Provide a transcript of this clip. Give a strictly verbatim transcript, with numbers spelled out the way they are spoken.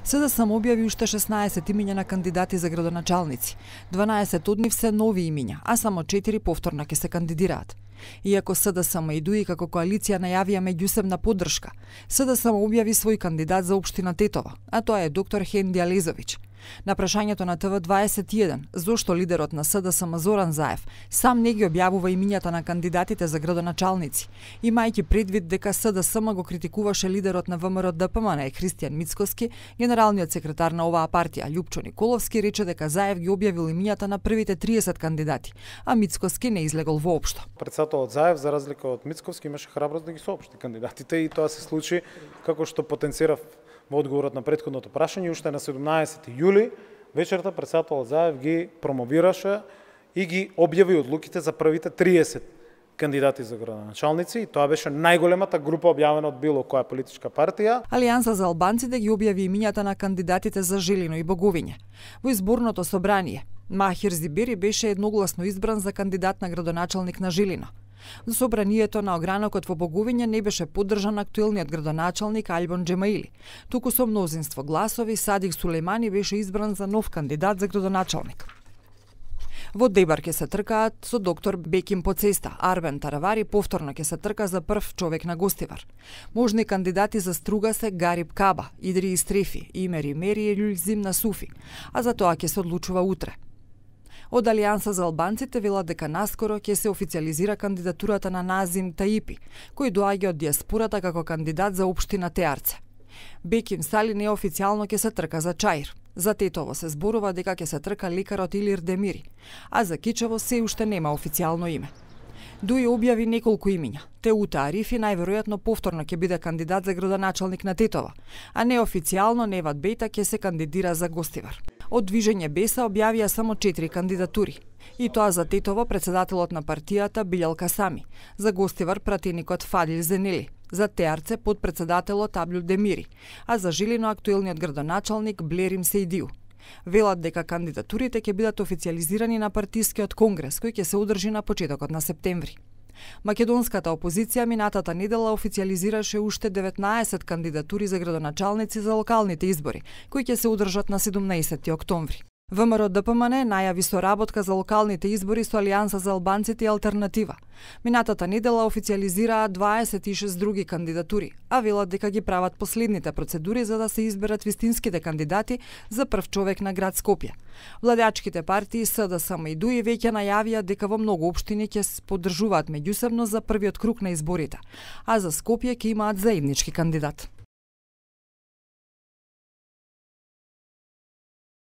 СДСМ објави уште шеснаесет имиња на кандидати за градоначалници. дванаесет од нив се нови имиња, а само четири повторно ќе се кандидираат. Иако СДСМ и ДУИ како коалиција најавија меѓусебна поддршка, СДСМ објави свој кандидат за општина Тетово, а тоа е доктор Хенди Алезовиќ. На прашањето на Т В дваесет и еден, зошто лидерот на СДСМ Зоран Заев сам не ги објавува имињата на кандидатите за градоначалници, имајќи предвид дека СДСМ го критикуваше лидерот на ВМРО Д П М Н Христијан Мицкоски, генералниот секретар на оваа партија Љупчо Николовски рече дека Заев ги објавил имињата на првите триесет кандидати, а Мицкоски не излегол воопшто. Председателот Заев, за разлика од Мицкоски, имаше храброст да ги соопшти кандидатите и тоа се случи како што потенцирав во одговорот на претходното прашање. Уште на седумнаесети јули вечерта председателот Заев ги промовираше и ги објави одлуките за првите триесет кандидати за градоначалници и тоа беше најголемата група објавена од било која политичка партија. Алијанса за албанците ги објави имињата на кандидатите за Жилино и Боговиње. Во изборното собрание Махир Зибери беше едногласно избран за кандидат на градоначалник на Жилино. За собранието на огранокот во Боговиње не беше поддржан актуелниот градоначалник Альбон Джемаили. Туку со мнозинство гласови Садик Сулејмани беше избран за нов кандидат за градоначалник. Во Дебар ќе се тркаат со доктор Беким по цеста. Арбен Таравари повторно ќе се трка за прв човек на Гостивар. Можни кандидати за Струга се Гариб Каба, Идри Истрефи, Имери Мери и Љулзим на Суфи, а за тоа ќе се одлучува утре. Од Алијанса за албанците велат дека наскоро ќе се официализира кандидатурата на Назим Таипи, кој доаѓа од диаспората како кандидат за општина Теарце. Беким Сали неофицијално ќе се трка за Чаир. За Тетово се зборува дека ќе се трка лекарот Илир Демири, а за Кичево се уште нема официјално име. ДУИ објави неколку имиња. Теута Арифи најверојатно повторно ќе биде кандидат за градоначалник на Тетово, а неофицијално Неват Бејта ќе се кандидира за Гостивар. Од Движење Беса објавија само четири кандидатури. И тоа за Тетово председателот на партијата Билјал Касами, за Гостивар пратеникот Фадил Зенели, за Теарце подпредседателот Аблю Демири, а за Жилино актуелниот градоначалник Блерим Сејдиу. Велат дека кандидатурите ќе бидат официализирани на партискиот конгрес кој ќе се одржи на почетокот на септември. Македонската опозиција минатата недела официализираше уште деветнаесет кандидатури за градоначалници за локалните избори, кои ќе се одржат на седумнаесети октомври. ВМРО Д П М Н најави соработка за локалните избори со Алијанса за албанците и Алтернатива. Минатата недела официализираа дваесет и шест други кандидатури, а велат дека ги прават последните процедури за да се изберат вистинските кандидати за прв човек на град Скопје. Владеачките партии СДСМ и ДУИ веќе најавија дека во многу општини ќе се поддржуваат меѓусебно за првиот круг на изборите, а за Скопје ќе имаат заеднички кандидат.